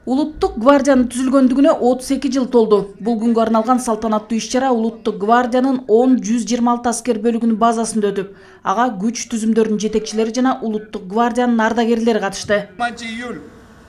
Улуттук гвардиянын түзүлгөндүгүнө 32 жыл толду. Бул күнгө арналган салтанаттуу иш-чара Улуттук гвардиянын 10-126 аскер бөлүгүнүн базасында өтүп, ага күч түзүмдөрүнүн жетекчилери жана Улуттук гвардиянын ардагерлери катышты. 20-июль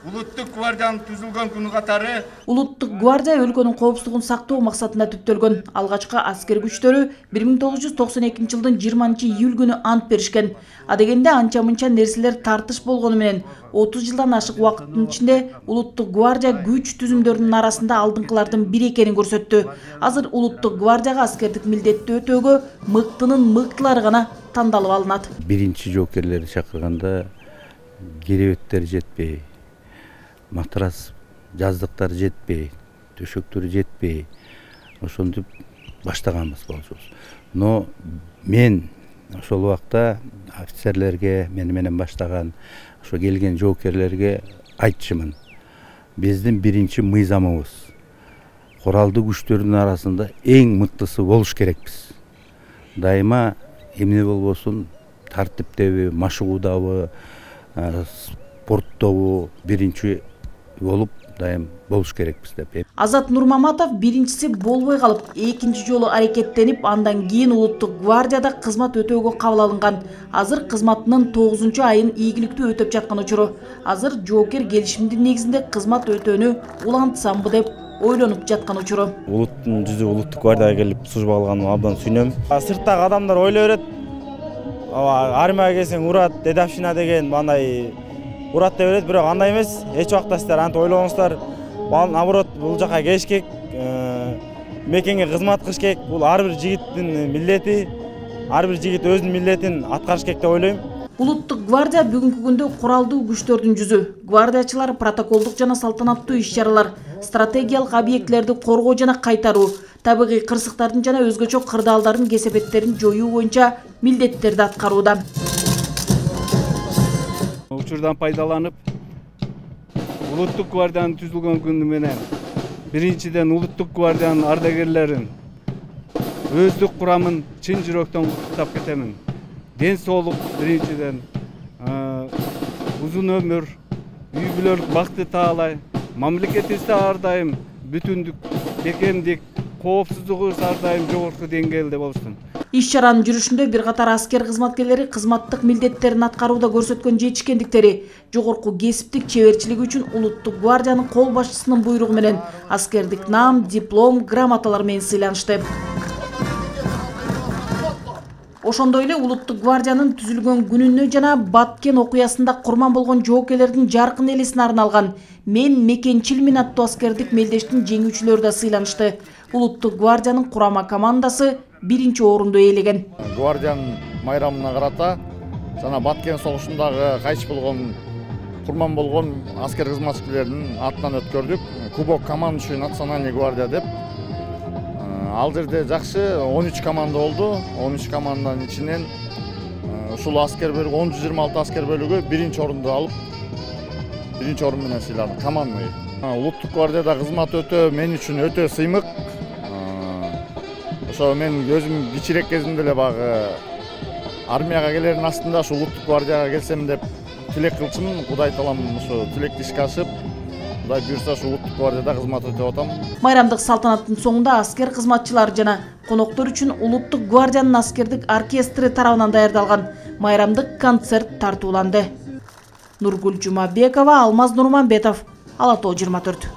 Улуттук гвардиянын түзүлгөн күнү катары Улуттук гвардия өлкөнүн коопсуздугун сактоо максатында түптөлгөн. Алгачкы аскер күчтөрү 1992 жылдын 20-июль күнү ант беришкен. Адегенде анча-мынча нерселер тартыш болгону менен 30 жылдан ашык убакыттын ичинде Улуттук гвардия күч түзүмдөрүнүн арасында алдыңкылардын бири экенин көрсөттү. Азыр Улуттук гвардияга аскердик милдетти өтөөгө мыктынын мыктылары гана тандалып алынат. Биринчи жоокерлерди чакырганда керебеттер жетпей, матрас жаздыктар жетпей, төшөктөр жетпей, ошентип баштаганбыз болчубуз. Но мен ошол убакта офицерлерге, мени менен баштаган ошо келген жоокерлерге айтчумун. Биздин биринчи мыйзамыбыз куралдуу күчтөрдүн арасында эң мыктысы болуш керекпиз. Дайыма эмне болбосун тартиптеби, машыгуудабы, спорттобу биринчи болуп дайым болуш керекпиз деп. Азат Нурмаматов биринчиси болбой калып, экинчи жолу аракеттенип, андан кийин Улуттук гвардияда кызмат өтөөгө кабыл алынган. Азыр кызматынын 9 айын ийгиликтүү өтөп жаткан учуру. Азыр жоокер келишимдин негизинде кызмат өтөөнү улантсамбы деп ойлонуп жаткан учуру. Улуттун жүзү Улуттук гвардияга келип служба алганыма абдан сүйүнөм. Сырттагы адамдар ойлой берет, армияга келсең урат, дедовщина деген мындай урат деп берет, бирок андай эмес. Эч убакта силер антип ойлобоңуздар. Наоборот, бул жака келиш керек, мекенге кызмат кылыш керек. Бул ар бир жигиттин милдети, ар бир жигит өзүнүн милдетин аткарыш керек деп ойлойм. Улуттук гвардия бүгүнкү күндө куралдуу күчтөрдүн жүзү. Гвардиячылар протоколдук жана салтанаттуу иш-чаралар, стратегиялык объектилерди коргоо жана кайтаруу, табигый кырсыктардын жана өзгөчө кырдаалдардын кесепеттерин жоюу боюнча милдеттерди аткарууда. Учурдан пайдаланып, Улуттук гвардиянын түзүлгөн күнү менен биринчиден Улуттук гвардиянын ардагерлерин, өздүк курамын чын жүрөктөн куттуктап кетемин. Ден соолук биринчиден, узун өмүр, үй бүлөлүк бакты таалай, мамлекетибизде ар дайым бүтүндүк, бекемдик, коопсуздугу ар дайым жогорку деңгээлде болсун. Иш-чаранын жүрүшүндө бир катар аскер кызматкерлери кызматтык милдеттерин аткарууда көрсөткөн жетишкендиктери, жогорку кесиптик чеберчилиги үчүн Улуттук гвардиянын кол башчысынын буйругу менен аскердик наам, диплом, грамоталар менен сыйланышты. Ошондой эле Улуттук гвардиянын түзүлгөн күнүнө жана Баткен окуясында курман болгон жоокерлердин жаркын элесине арналган "Мен мекенчилмин" аттуу аскердик мелдештин жеңүүчүлөрү да сыйланышты. Улуттук гвардиянын курама командасы биринчи орунду ээлеген. гвардиянын майрамына карата жана Баткен согушундагы кайтыш болгон курман болгон аскер кызматкерлеринин атынан өткөрдүк. Кубок командующий национальный гвардия деп. Ал жерде жакшы 13 команда болду. 13 команданын ичинен ушул аскер бөлүгү 10-126 аскер бөлүгү биринчи орунду алып, биринчи орун менен сыйланды командный. Улуттук гвардияда кызмат өтөө мен үчүн өтө сыймык. Ошо мен өзүм кичирээк кезимде эле багы армияга келердин астында ушу Улуттук гвардияга келсем деп тилек кылчумун. Кудай таалам ошо тилекти ишке ашып, Кудай буйрса ушу Улуттук гвардияда кызмат өтөп атам. Майрамдык салтанаттын соңунда аскер кызматчылары жана коноктор үчүн Улуттук гвардиянын аскердик оркестри тарабынан даярдалган майрамдык концерт тартууланды. Нургүл Жумабекова, Алмаз Нурманбетов, Ала Тоо 24.